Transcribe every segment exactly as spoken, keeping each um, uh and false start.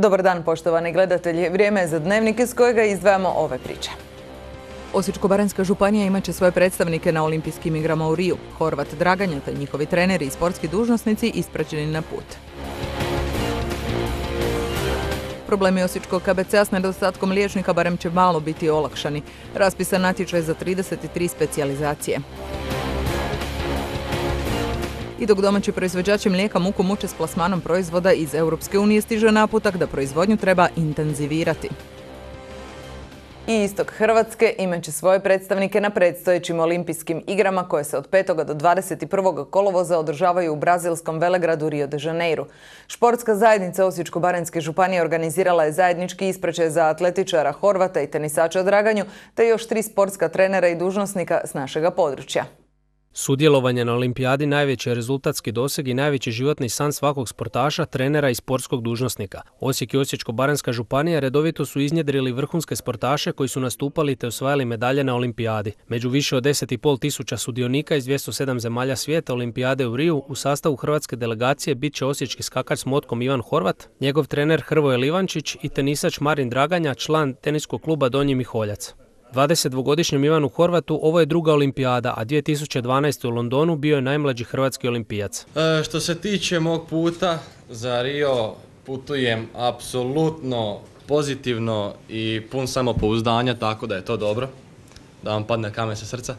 Dobar dan, poštovani gledatelji. Vrijeme je za dnevnik iz kojega izdvajamo ove priče. Osječko-baranjska županija imaće svoje predstavnike na olimpijskim igrama u Riju. Horvat Draganja te njihovi treneri i sportski dužnosnici ispraćeni na put. Problemi Osječkog K B C-a s nedostatkom liječnika barem će malo biti olakšani. Raspisan natječaj za trideset tri specijalizacije. I dok domaći proizvođači mlijeka muku muče s plasmanom proizvoda iz Europske unije, stiže naputak da proizvodnju treba intenzivirati. I istok Hrvatske imat će svoje predstavnike na predstojećim olimpijskim igrama koje se od petog do dvadeset prvog kolovoza održavaju u brazilskom velegradu Rio de Janeiro. Športska zajednica Osječko-baranjske županije organizirala je zajednički ispraćaj za atletičara Horvata i tenisača Draganju, te još tri sportska trenera i dužnosnika s našega područja. Sudjelovanje na olimpijadi najveći je rezultatski doseg i najveći životni san svakog sportaša, trenera i sportskog dužnosnika. Osijek i Osječko-baranjska županija redovito su iznjedrili vrhunske sportaše koji su nastupali te osvajali medalje na olimpijadi. Među više od deset i pol tisuća sudionika iz dvjesto sedam zemalja svijeta olimpijade u Riju u sastavu hrvatske delegacije bit će osječki skakač s motkom Ivan Horvat, njegov trener Hrvoje Livančić i tenisač Marin Draganja, član teniskog kluba Donji Miholjac. dvadesetdvogodišnjem Ivanu Horvatu ovo je druga olimpijada, a dvije tisuće dvanaeste. u Londonu bio je najmlađi hrvatski olimpijac. E, što se tiče mog puta za Rio, putujem apsolutno pozitivno i pun samopouzdanja, tako da je to dobro, da vam padne kamen sa srca.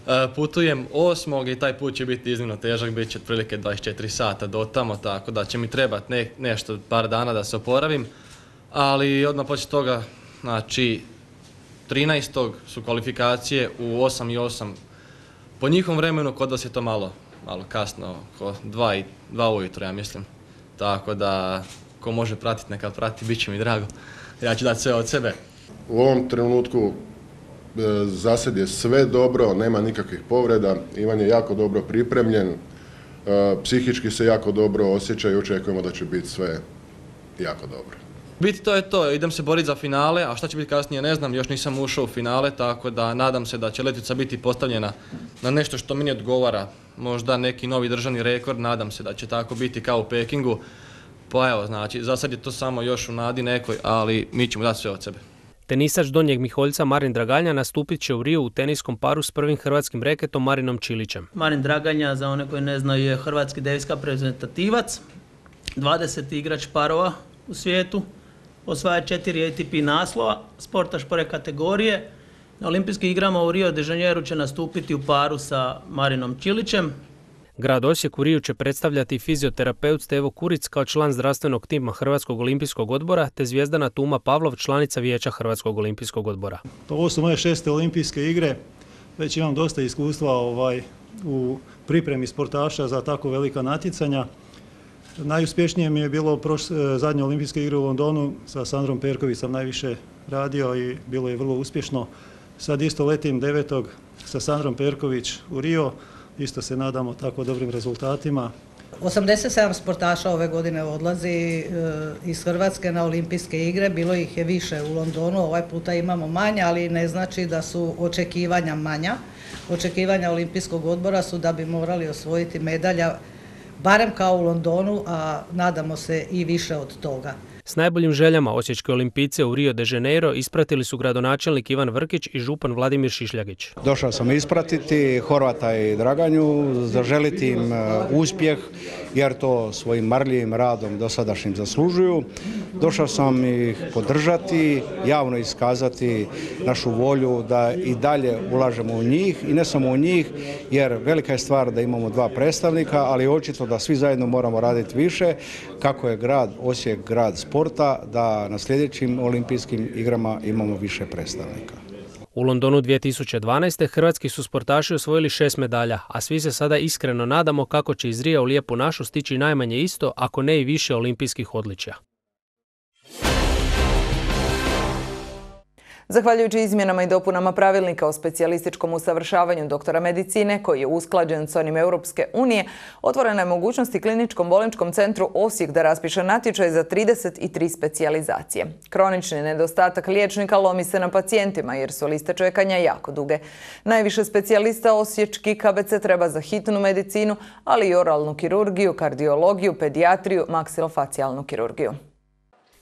E, putujem osmog i taj put će biti iznimno težak, bit će otprilike dvadeset četiri sata do tamo, tako da će mi trebati ne, nešto, par dana da se oporavim, ali odmah poslije toga, znači, trinaestog su kvalifikacije u osam i osam. Po njihovom vremenu kod vas je to malo, malo kasno, oko dva i dva ujutro, ja mislim. Tako da, ko može pratiti, neka prati, bit će mi drago. Ja ću dati sve od sebe. U ovom trenutku e, zasad je sve dobro, nema nikakvih povreda. Ivan je jako dobro pripremljen, e, psihički se jako dobro osjeća i očekujemo da će biti sve jako dobro. Biti to je to, idem se boriti za finale, a šta će biti kasnije ne znam, još nisam ušao u finale, tako da nadam se da će letvica biti postavljena na nešto što meni odgovara. Možda neki novi državni rekord, nadam se da će tako biti kao u Pekingu. Pa evo, znači, za sad je to samo još u nadi nekoj, ali mi ćemo dati sve od sebe. Tenisač Donjeg Miholjca Marin Draganja nastupit će u Riju u teniskom paru s prvim hrvatskim reketom Marinom Čilićem. Marin Draganja, za one koji ne znaju, je hrvatski deviska reprezentativac, dvadeseti igrač parova u svijetu. Osvaja četiri A T P naslova, sportaš prve kategorije. Na olimpijskim igrama u Rio de Janeiro će nastupiti u paru sa Marinom Čilićem. Grad Osijek u Riju će predstavljati fizioterapeut Stevo Kuric kao član zdravstvenog tima Hrvatskog olimpijskog odbora te Zvijezdana Tuma Pavlov, članica vijeća Hrvatskog olimpijskog odbora. Ovo su moje šeste olimpijske igre, već imam dosta iskustva ovaj, u pripremi sportaša za tako velika natjecanja. Najuspješnije mi je bilo proš, zadnje olimpijske igre u Londonu, sa Sandrom Perković sam najviše radio i bilo je vrlo uspješno. Sad isto letim devetog sa Sandrom Perković u Rio, isto se nadamo tako dobrim rezultatima. osamdeset sedam sportaša ove godine odlazi iz Hrvatske na olimpijske igre, bilo ih je više u Londonu, ovaj puta imamo manje, ali ne znači da su očekivanja manja. Očekivanja olimpijskog odbora su da bi morali osvojiti medalja barem kao u Londonu, a nadamo se i više od toga. S najboljim željama osječke olimpijce u Rio de Janeiro ispratili su gradonačelnik Ivan Vrkić i župan Vladimir Šišljagić. Došao sam ispratiti Horvata i Draganju, zaželiti im uspjeh jer to svojim marljivim radom dosadašnjim zaslužuju. Došao sam ih podržati, javno iskazati našu volju da i dalje ulažemo u njih i ne samo u njih, jer velika je stvar da imamo dva predstavnika, ali očito da svi zajedno moramo raditi više kako je grad Osijek grad sporta, da na sljedećim olimpijskim igrama imamo više predstavnika. U Londonu dvije tisuće dvanaeste. hrvatski su sportaši osvojili šest medalja, a svi se sada iskreno nadamo kako će iz Rija u lijepu našu stići najmanje isto, ako ne i više olimpijskih odličja. Zahvaljujući izmjenama i dopunama pravilnika o specijalističkom usavršavanju doktora medicine, koji je usklađen s onim Europske unije, otvorena je mogućnost i Kliničkom bolničkom centru Osijek da raspiše natječaj za trideset tri specijalizacije. Kronični nedostatak liječnika lomi se na pacijentima jer su liste čekanja jako duge. Najviše specijalista osječki K B C treba za hitnu medicinu, ali i oralnu kirurgiju, kardiologiju, pedijatriju, maksilofacijalnu kirurgiju.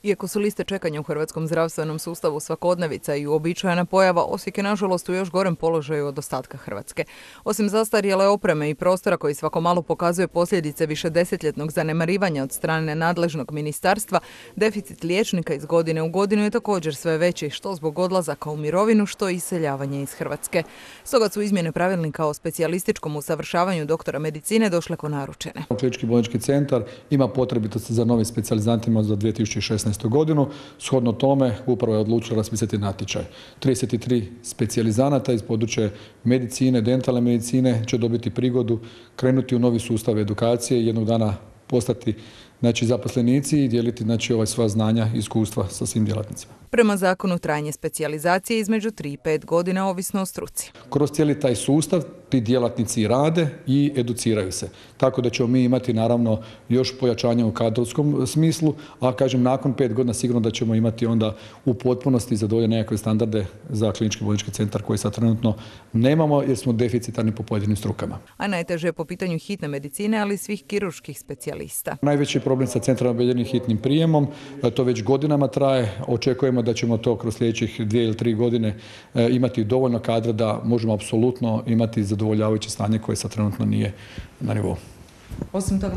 Iako su liste čekanja u hrvatskom zdravstvenom sustavu svakodnevica i uobičajena pojava, Osijek je nažalost u još gorem položaju od ostatka Hrvatske. Osim zastarjele opreme i prostora koji svako malo pokazuje posljedice višedesetljetnog zanemarivanja od strane nadležnog ministarstva, deficit liječnika iz godine u godinu je također sve veći, što zbog odlazaka u mirovinu, što i iseljavanje iz Hrvatske. Stoga su izmjene pravilnika o specijalističkom usavršavanju doktora medicine došle ko naručene. Klinički bolnički centar ima potrebitosti za novim specijalizantima za dvije tisuće šesnaestu godinu. Shodno tome upravo je odlučila raspisati natječaj. trideset tri specijalizanata iz područja medicine, dentalne medicine će dobiti prigodu krenuti u novi sustav edukacije i jednog dana postati znači, zaposlenici i dijeliti znači, ovaj sva znanja i iskustva sa svim djelatnicima. Prema zakonu trajanje specijalizacije između tri i pet godina ovisno o struci. Kroz cijeli taj sustav ti djelatnici rade i educiraju se. Tako da ćemo mi imati naravno još pojačanje u kadrovskom smislu, a kažem nakon pet godina sigurno da ćemo imati onda u potpunosti zadovoljene nekakve standarde za klinički bolnički centar koji sad trenutno nemamo jer smo deficitarni po pojedinim strukama. A najteže je po pitanju hitne medicine, ali i svih kirurških specijalista. Najveći problem sa centralno objedinjenim hitnim prijemom, to već godinama traje, očekujemo da ćemo to kroz sljedećih dvije ili tri godine imati dovoljno kadra da možemo apsolutno imati zadovoljavajuće stanje koje sad trenutno nije na nivou. Osim toga?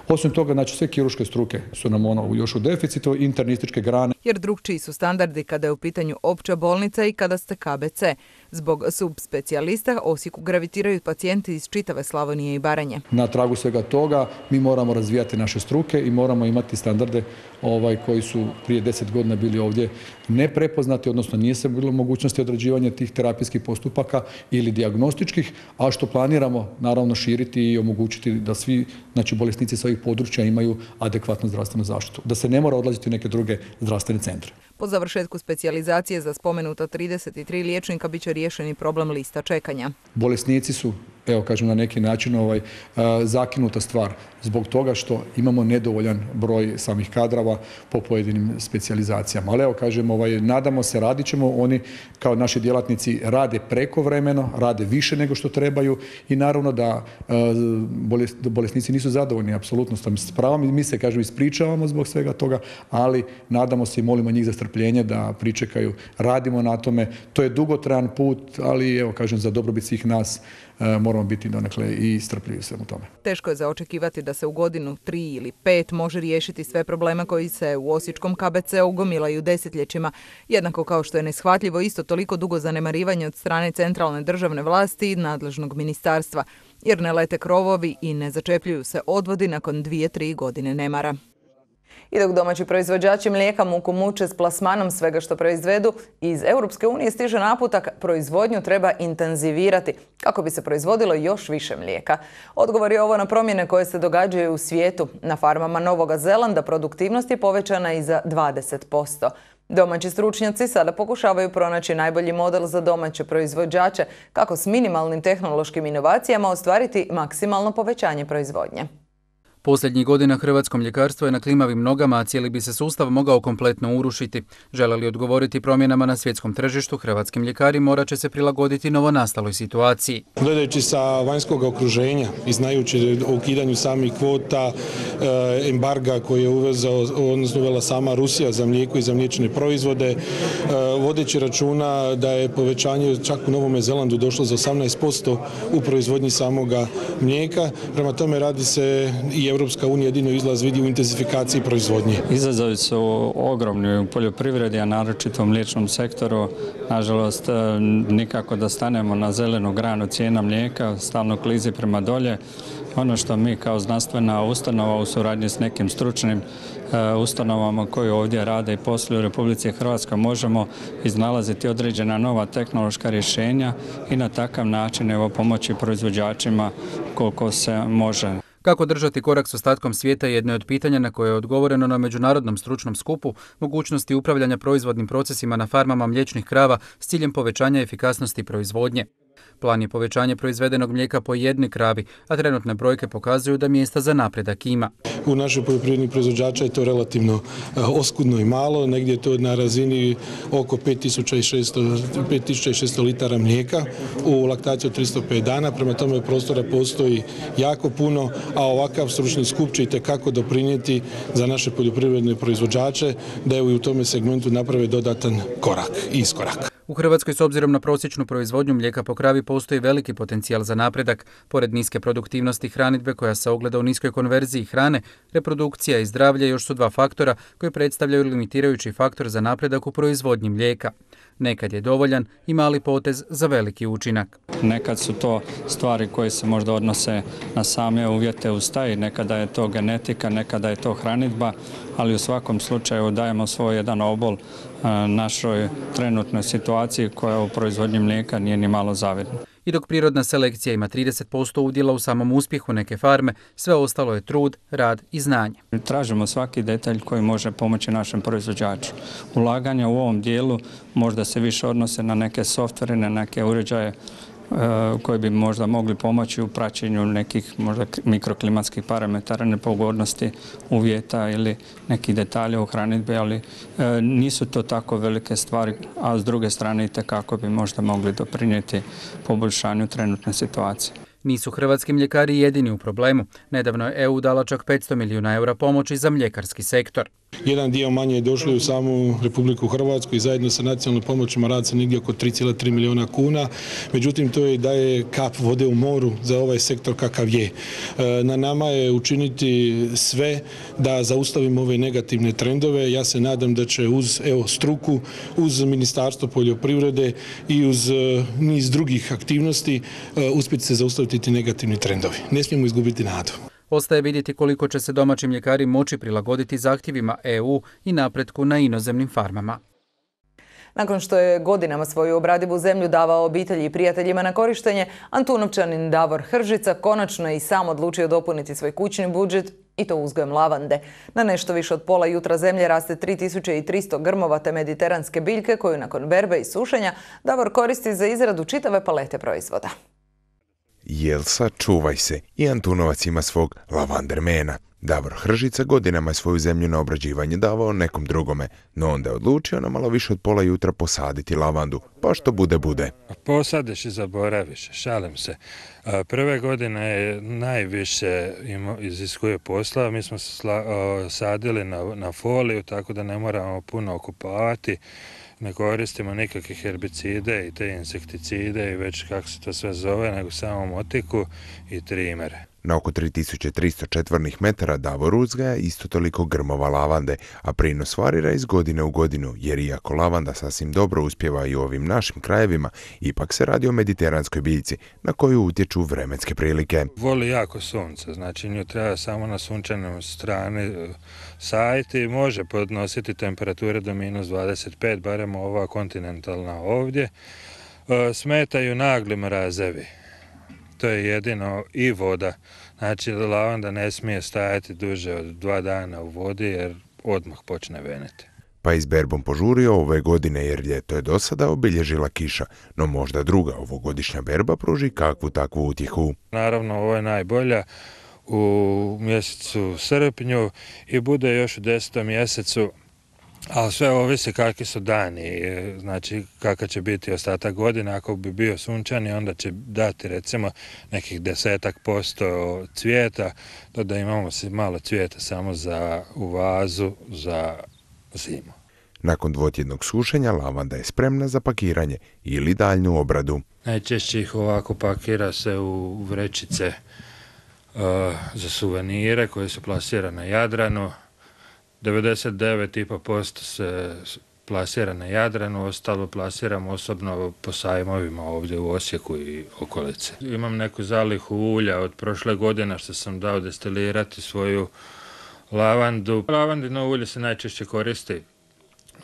Osim toga, znači sve kirurške struke su nam ono još u deficitu, internističke grane. Jer drugčiji su standardi kada je u pitanju opća bolnica i kada ste K B C. Zbog subspecijalista Osijeku gravitiraju pacijenti iz čitave Slavonije i Baranje. Na tragu svega toga mi moramo razvijati naše struke i moramo imati standarde ovaj, koji su prije deset godina bili ovdje neprepoznati, odnosno nije se bilo mogućnosti odrađivanja tih terapijskih postupaka ili dijagnostičkih, a što planiramo naravno širiti i omogućiti da svi znači, bolesnici sa ovih područja imaju adekvatnu zdravstvenu zaštitu. Da se ne mora odlaziti u neke druge zdravstvene centre. Po završetku specijalizacije za spomenuta trideset tri liječnika bit će riješeni problem lista čekanja. Bolesnici su, evo kažem na neki način, ovaj, zakinuta stvar zbog toga što imamo nedovoljan broj samih kadrova po pojedinim specijalizacijama. Ali evo kažem, ovaj, nadamo se, radit ćemo, oni kao naši djelatnici rade prekovremeno, rade više nego što trebaju i naravno da bolesnici nisu zadovoljni apsolutno s pravom. Mi se, kažem, ispričavamo zbog svega toga, ali nadamo se i molimo njih za strpljenje da pričekaju. Radimo na tome. To je dugotrajan put, ali evo kažem, za dobrobit svih nas moramo biti donekle i strpljivi svemu tome. Teško je za očekivati da se u godinu tri ili pet može riješiti sve probleme koji se u osječkom K B C-u gomilaju desetljećima, jednako kao što je neshvatljivo isto toliko dugo zanemarivanje od strane centralne državne vlasti i nadležnog ministarstva, jer ne lete krovovi i ne začepljuju se odvodi nakon dvije, tri godine nemara. I dok domaći proizvođači mlijeka muku muče s plasmanom svega što proizvedu, iz Europske unije stiže naputak proizvodnju treba intenzivirati kako bi se proizvodilo još više mlijeka. Odgovor je ovo na promjene koje se događaju u svijetu. Na farmama Novoga Zelanda produktivnost je povećana i za dvadeset posto. Domaći stručnjaci sada pokušavaju pronaći najbolji model za domaće proizvođače kako s minimalnim tehnološkim inovacijama ostvariti maksimalno povećanje proizvodnje. Posljednjih godina hrvatsko mljekarstvo je na klimavim nogama, a cijeli bi se sustav mogao kompletno urušiti. Žele li odgovoriti promjenama na svjetskom tržištu, hrvatski mljekari morat će se prilagoditi novonastaloj situaciji. Gledajući sa vanjskog okruženja i znajući o ukidanju samih kvota, embarga koje je uvezao, odnosno uvela sama Rusija za mlijeko i za mliječne proizvode, vodeći računa da je povećanje čak u Novome Zelandu došlo za osamnaest posto u proizvodnji samoga mlijeka. Prema tome radi se i Europska unija jedino izlaz vidi u intenzifikaciji proizvodnje. Izazovi su ogromni u poljoprivredi, a naročito u mliječnom sektoru. Nažalost, nikako da stanemo na zelenu granu cijena mlijeka, stalno klizi prema dolje. Ono što mi kao znanstvena ustanova u suradnji s nekim stručnim ustanovama koji ovdje rade i posluju u Republici Hrvatskoj možemo iznalaziti određena nova tehnološka rješenja i na takav način evo, pomoći proizvođačima koliko se može. Kako držati korak s ostatkom svijeta je jedno od pitanja na koje je odgovoreno na međunarodnom stručnom skupu mogućnosti upravljanja proizvodnim procesima na farmama mliječnih krava s ciljem povećanja efikasnosti proizvodnje. Plan je povećanje proizvedenog mlijeka po jednoj kravi, a trenutne brojke pokazuju da mjesta za napredak ima. U našoj poljoprivrednih proizvođača je to relativno oskudno i malo, negdje je to na razini oko pet tisuća šesto litara mlijeka u laktaciji od tristo pet dana, prema tome prostora postoji jako puno, a ovakav stručni skup će itekako doprinijeti za naše poljoprivredne proizvođače da je u tome segmentu naprave dodatan korak i iskorak. U Hrvatskoj s obzirom na prosječnu proizvodnju mlijeka po kravi postoji veliki potencijal za napredak. Pored niske produktivnosti hranidbe koja se ogleda u niskoj konverziji hrane, reprodukcija i zdravlje još su dva faktora koji predstavljaju limitirajući faktor za napredak u proizvodnji mlijeka. Nekad je dovoljan i mali potez za veliki učinak. Nekad su to stvari koje se možda odnose na same uvjete u staji, nekada je to genetika, nekada je to hranidba, ali u svakom slučaju dajemo svoj jedan obol našoj trenutnoj situaciji koja u proizvodnji mlijeka nije ni malo zavidna. I dok prirodna selekcija ima trideset posto udjela u samom uspjehu neke farme, sve ostalo je trud, rad i znanje. Tražimo svaki detalj koji može pomoći našem proizvođaču. Ulaganja u ovom dijelu možda se više odnose na neke softvere, na neke uređaje koji bi možda mogli pomoći u praćenju nekih možda mikroklimatskih parametara, nepogodnosti uvjeta ili nekih detalja u hranidbi, ali nisu to tako velike stvari, a s druge strane i tekako bi možda mogli doprinijeti poboljšanju trenutne situacije. Nisu hrvatski mljekari jedini u problemu. Nedavno je E U dala čak petsto milijuna eura pomoći za mljekarski sektor. Jedan dio manje je došlo u samu Republiku Hrvatsku i zajedno sa nacionalnim pomoćima radi se negdje oko tri zarez tri milijuna kuna. Međutim, to je daje kap vode u moru za ovaj sektor kakav je. Na nama je učiniti sve da zaustavimo ove negativne trendove. Ja se nadam da će uz evo, struku, uz Ministarstvo poljoprivrede i uz niz drugih aktivnosti uspjeti se zaustaviti ti negativni trendovi. Ne smijemo izgubiti nadu. Ostaje vidjeti koliko će se domaći mljekari moći prilagoditi zahtjevima E U i napretku na inozemnim farmama. Nakon što je godinama svoju obradivu zemlju davao obitelji i prijateljima na korištenje, Antunovčanin Davor Hržica konačno je i sam odlučio dopuniti svoj kućni budžet i to uzgojem lavande. Na nešto više od pola jutra zemlje raste tri tisuće tristo grmovate mediteranske biljke koju nakon berbe i sušenja Davor koristi za izradu čitave palete proizvoda. Jelsa, čuvaj se, i Antunovac ima svog lavandermena. Davor Hržica godinama je svoju zemlju na obrađivanje davao nekom drugome, no onda je odlučio na malo više od pola jutra posaditi lavandu, pa što bude bude. Posadiš i zaboraviš, šalim se. Prve godine je najviše iziskuje posla, mi smo sadili na, na foliju, tako da ne moramo puno okupavati. Ne koristimo nikakve herbicide i te insekticide i već kako se to sve zove, nego samo motiku i trimere. Na oko tri tisuće tristo četvornih metara Davor uzgaja isto toliko grmova lavande, a prinos varira iz godine u godinu, jer iako lavanda sasvim dobro uspjeva i u ovim našim krajevima, ipak se radi o mediteranskoj biljci na koju utječu vremenske prilike. Voli jako sunce, znači nju treba samo na sunčanoj strani sajiti, može podnositi temperature do minus dvadeset pet, barem ova kontinentalna ovdje. Smetaju nagli mrazevi. To je jedino i voda. Znači, lavanda ne smije stajati duže od dva dana u vodi jer odmah počne veniti. Pa i s berbom požurio ove godine jer ljeto je do sada obilježila kiša, no možda druga ovogodišnja berba pruži kakvu takvu utjehu. Naravno, ovo je najbolja u mjesecu srpnju i bude još u desetom mjesecu. Ali sve ovisi kakvi su dani, znači kakav će biti ostatak godine. Ako bi bio sunčani, onda će dati recimo nekih desetak posto cvijeta, to da imamo malo cvijeta samo za u vazu za zimu. Nakon dvotjednog sušenja lavanda je spremna za pakiranje ili daljnju obradu. Najčešće ih ovako pakira se u vrećice uh, za suvenire koje su plasirane na Jadranu. devedeset devet i pet posto se plasira na Jadranu, ostalo plasiram osobno po sajmovima ovdje u Osijeku i okolici. Imam neku zalihu ulja od prošle godine što sam dao destilirati svoju lavandu. Lavandino ulje se najčešće koristi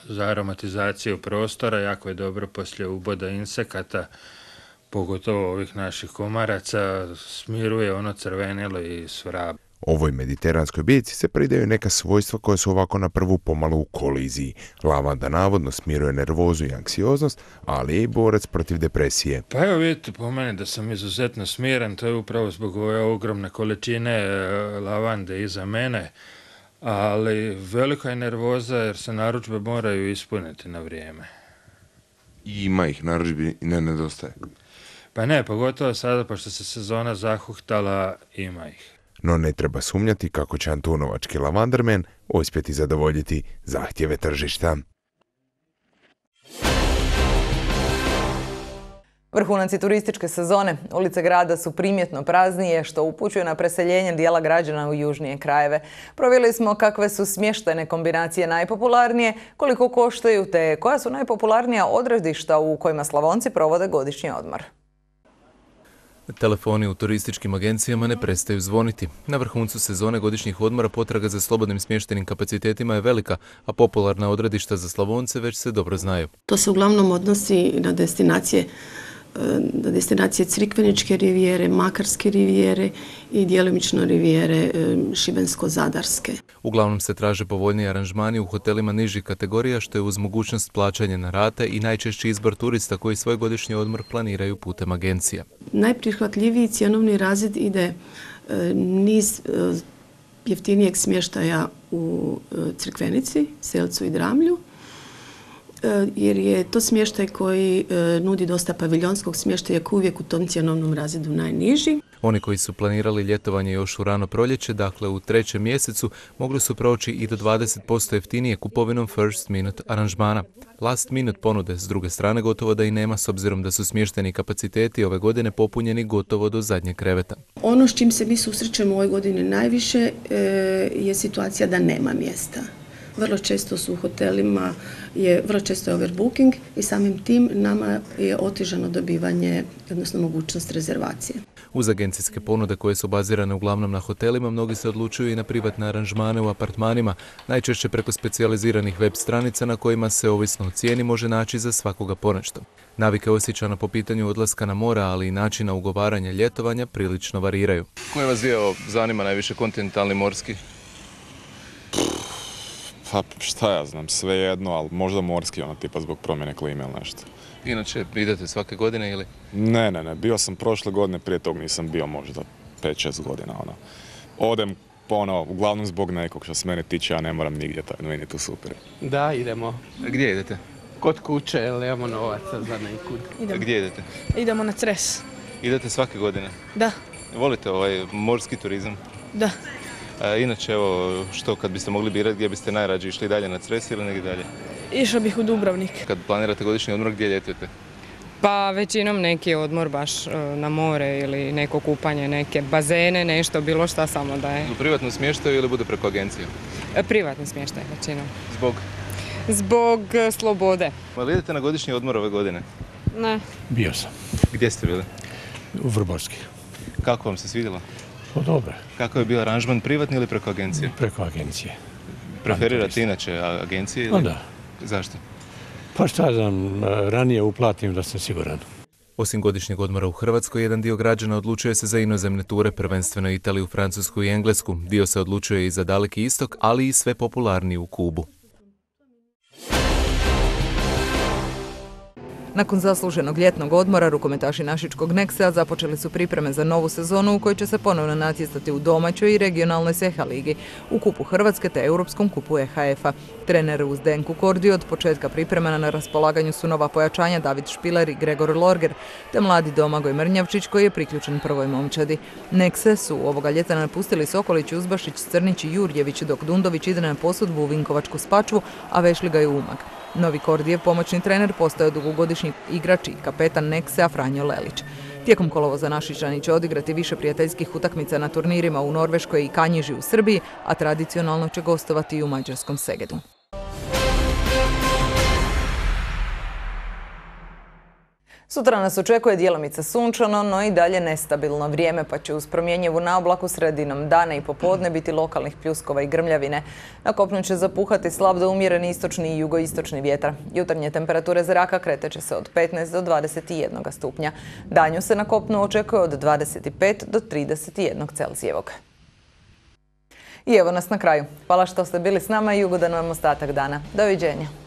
za aromatizaciju prostora, jako je dobro poslije uboda insekata, pogotovo ovih naših komaraca, smiruje ono crvenilo i svrab. Ovoj mediteranskoj biljci se pridaju neka svojstva koja su ovako na prvu pomalo u koliziji. Lavanda navodno smiruje nervozu i anksioznost, ali je i borac protiv depresije. Pa evo vidite po meni da sam izuzetno smiren, to je upravo zbog ove ogromne količine lavande iza mene, ali velika je nervoza jer se narudžbe moraju ispuniti na vrijeme. I ima ih, narudžbi ne nedostaje. Pa ne, pogotovo sada, pošto se sezona zahuktala, ima ih. No ne treba sumnjati kako će antunovački lavandermen uspjeti zadovoljiti zahtjeve tržišta. Vrhunac turističke sezone. Ulice grada su primjetno praznije, što upućuje na preseljenje dijela građana u južnije krajeve. Provjerili smo kakve su smještajne kombinacije najpopularnije, koliko koštaju te koja su najpopularnija odredišta u kojima Slavonci provode godišnji odmor. Telefoni u turističkim agencijama ne prestaju zvoniti. Na vrhuncu sezone godišnjih odmora potraga za slobodnim smještajnim kapacitetima je velika, a popularna odredišta za Slavonce već se dobro znaju. To se uglavnom odnosi na destinacije na destinacije Crikveničke rivijere, Makarske rivijere i djelomično rivijere Šibensko-Zadarske. Uglavnom se traže povoljniji aranžmani u hotelima nižih kategorija, što je uz mogućnost plaćanja na rate i najčešći izbor turista koji svoj godišnji odmor planiraju putem agencija. Najprihvatljiviji cjenovni razred ide niz jeftinijeg smještaja u Crikvenici, Selcu i Dramlju, jer je to smještaj koji nudi dosta paviljonskog smještaja koji uvijek u tom cjenovnom razredu najniži. Oni koji su planirali ljetovanje još u rano proljeće, dakle u trećem mjesecu, mogli su proći i do dvadeset posto jeftinije kupovinom first minute aranžmana. Last minute ponude s druge strane gotovo da i nema, s obzirom da su smještajni kapaciteti ove godine popunjeni gotovo do zadnjeg kreveta. Ono s čim se mi susrećemo ove godine najviše je situacija da nema mjesta. Vrlo često su u hotelima, je, vrlo često je overbooking i samim tim nama je otežano dobivanje, odnosno mogućnost rezervacije. Uz agencijske ponude koje su bazirane uglavnom na hotelima, mnogi se odlučuju i na privatne aranžmane u apartmanima, najčešće preko specijaliziranih web stranica na kojima se, ovisno o cijeni, može naći za svakoga ponešto. Navike osjećana po pitanju odlaska na mora, ali i načina ugovaranja ljetovanja prilično variraju. Koji vas dio zanima najviše, kontinentalni, morski? Pa šta ja znam, sve jedno, ali možda morski, ono tipa zbog promjene klime ili nešto. Inače, idete svake godine ili? Ne, ne, ne, bio sam prošle godine, prije tog nisam bio možda pet šest godina, ono. Odem, ono, uglavnom zbog nekog što se mene tiče, ja ne moram nigdje, tako meni je tu super. Da, idemo. A gdje idete? Kod kuće, jer nemamo novaca za nekud. Idemo. Gdje idete? Idemo na Cres. Idete svake godine? Da. Volite ovaj morski turizam? Da. A, inače, evo, što kad biste mogli birati, gdje biste najrađe išli dalje na Cres ili negdje dalje? Išla bih u Dubrovnik. Kad planirate godišnji odmor, gdje ljetujete? Pa većinom neki odmor baš na more ili neko kupanje, neke bazene, nešto, bilo šta, samo da je. U privatnom smještaju ili bude preko agencije? Privatni smještaj većinom. Zbog? Zbog slobode. Ma li idete na godišnji odmor ove godine? Ne. Bio sam. Gdje ste bili? U Vrborski. Kako vam se svidjelo? Pa dobro. Kako je bio aranžman, privatni ili preko agencije? Preko agencije. Preferirate inače agencije? Pa da. Zašto? Pa šta znam, ranije uplatim da sam siguran. Osim godišnjeg odmora u Hrvatskoj, jedan dio građana odlučuje se za inozemne ture, prvenstveno Italiju, Francusku i Englesku. Dio se odlučuje i za Daleki istok, ali i sve popularniji u Kubu. Nakon zasluženog ljetnog odmora, rukometaši našičkog Nexa započeli su pripreme za novu sezonu u kojoj će se ponovno natjecati u domaćoj i regionalnoj S E H A ligi, u Kupu Hrvatske te Europskom kupu E H F-a. Trener uz Zdenku Kordiju od početka priprema na raspolaganju su nova pojačanja David Špiler i Gregor Lorger, te mladi Domagoj Mrnjavčić koji je priključen prvoj momčadi. Nexe su ovoga ljeta napustili Sokolić, Uzbašić, Crnić i Jurjević, dok Dundović ide na posudbu u Vinkovačku Spačvu, a Vešliga je u Umag. Novi Kordijev pomoćni trener postao je dugogodišnji igrač i kapetan Nexa Franjo Lelić. Tijekom kolovoza Našičani će odigrati više prijateljskih utakmica na turnirima u Norveškoj i Kanjiži u Srbiji, a tradicionalno će gostovati i u mađarskom Segedu. Sutra nas očekuje djelomice sunčano, no i dalje nestabilno vrijeme, pa će uz promjenjivu naoblaku sredinom dana i popodne biti lokalnih pljuskova i grmljavine. Na kopnu će zapuhati slab do umjereni istočni i jugoistočni vjetar. Jutarnje temperature zraka kretat će se od petnaest do dvadeset jedan stupnja. Danju se na kopnu očekuje od dvadeset pet do trideset jedan Celzijevog. I evo nas na kraju. Hvala što ste bili s nama i ugodan vam ostatak dana. Doviđenja.